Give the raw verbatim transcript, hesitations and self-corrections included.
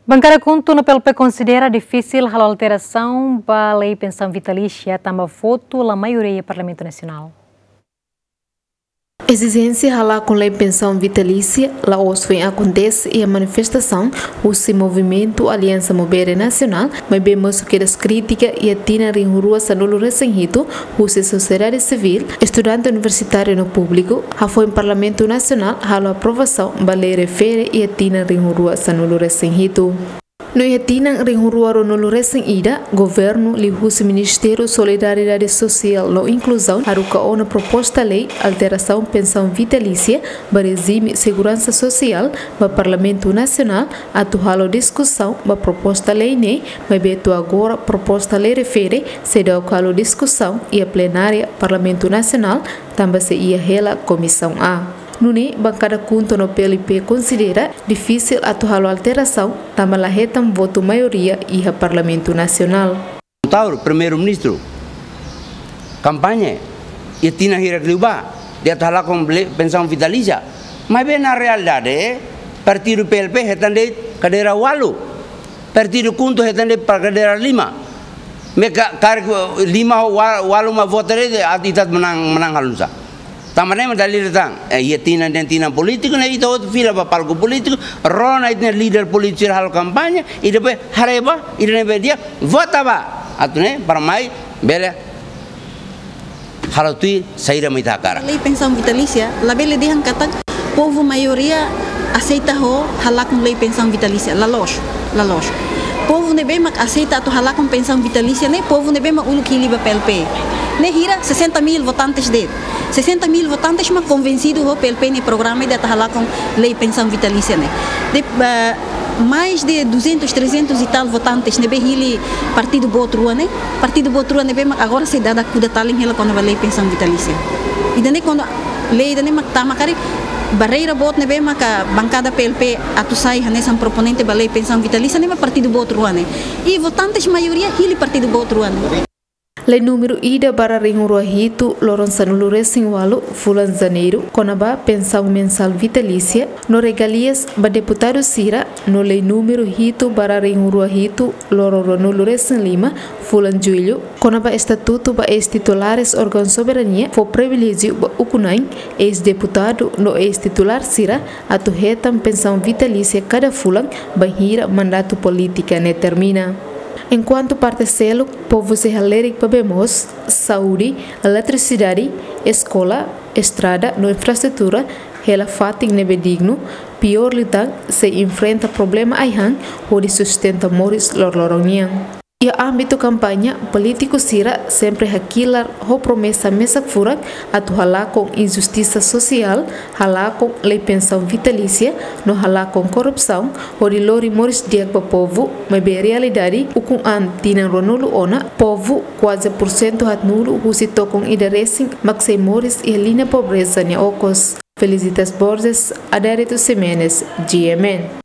Bankada KHUNTO no PLP konsidera difisil halo alterasaun ba lei pensaun vitalísia tanba votu la maioria iha Parlamentu Nasionál. Ezijénsia halakon lei pensaun vitalísia la'ós foin akontese iha manifestasaun husi Movimentu Aliansa Mubere Nasionál, maibé mosu kedas krítika iha tinan rihun rua sanulu resin hitu husi sosiedade sivíl, estudante universitáriu no públiku, hafoin Parlamentu Nasionál halo aprovasaun ba lei refere iha tinan rihun rua sanulu resin hitu. No iha tinan rihun rua ruanulu resin ida, governu liuhusi Ministériu Solidariedade Sosiál no Inkluzaun haruka ona proposta lei alterasaun pensaun vitalísia ba rejime seguransa sosiál ba Parlamentu Nasionál atu halo diskusaun ba proposta lei ne'e, maibé to'o agora proposta lei refere seidauk halo diskusaun iha plenária Parlamentu Nasionál, tanba sei iha hela Komisaun A. Nune'e, bankada KHUNTO no PLP konsidera difisil atu halo alterasaun tanba la hetan votu maioria iha Parlamentu Nasionál. Taur, Primeiru-Ministru, kampaña iha tinan hirak liubá, dehan atu halakon lei pensaun vitalísia. Maibé na realidade, partidu PLP hetan de'it kadeira ualu, partidu KHUNTO hetan de'it pa kadeira lima. Maka karik lima ho ua-, ualu mak vota de'it, ita atu manán, manán halo nusá? Tanba ne'e mak dala ida tan, eh, iha tinan, tinan polítiku ne'e ita hotu fila ba palku polítiku, rona ita-nia líder polítiku sira halo kampaña, i depois haree ba, ida-ne'ebé di'ak, vota ba. Atu nune'e, para mai bele halo tuir saida mak ita hakarak. Lei pensaun vitalísia, labele dehan katak povu maioria aseita ho halakon lei pensaun vitalísia, la loos, la loos. Povu ne'ebé mak aseita atu halakon pensaun vitalísia ne'e, povu ne'ebé mak uluk hili ba PLP. Ne'e hira sessenta mil votantes de'it. Sessenta mil votantes mak konvensidu ho PLP nia programa ida atu halakon lei pensaun vitalísia ne'e. De, eh, mais de duzentos, trezentos e tal votantes ne'ebé hili partidu boot rua ne'e. Partidu boot rua ne'ebé mak agora sei dada kuda talin hela kona-ba lei pensaun vitalísia. Ida-ne'e kuandu lei ida-ne'e mak tama karik, barreira boot ne'ebé maka bankada PLP atu sai hanesan proponente ba lei pensaun vitalísia ne'e mak partidu boot rua ne'e. I votantes maioria hili partidu boot rua ne'e. Lei númeru ida barra rihun rua hitu loron sanulu resin ualu fulan Janeiru kona-ba pensaun mensál vitalísia no regalias ba deputadu sira, no lei númeru hitu barra rihun rua hitu loron ruanulu resin lima fulan Jullu kona-ba estatutu ba eis-titulares órgaun soberania fó priviléjiu ba ukun-na'in, eis-deputadu no eis-titulár sira atu hetan pensaun vitalísia kada fulan bainhira mandatu polítika ne'e termina. Enkuantu parte seluk, povu sei halerik ba bee moos, saúde, eletrisidade, eskola, estrada no infraestrutura hela fatin ne'ebé dignu, piór liután sei enfrenta problema ai-han hodi sustenta moris loroloron nian. Iha ámbitu kampaña, polítiku sira sempre hakilar ho promesa mesak furak atu halakon injustisa sosiál, halakon lei pensaun vitalísia, no halakon korrupsaun, hodi lori moris di'ak ba povu, maibé realidade ukun an tinan ruanulu ona, povu kuaze pursentu haatnulu husi tokon ida resin mak sei moris iha liña pobreza nia okos. Felicitas Borges, Adérito Ximenes, G M N.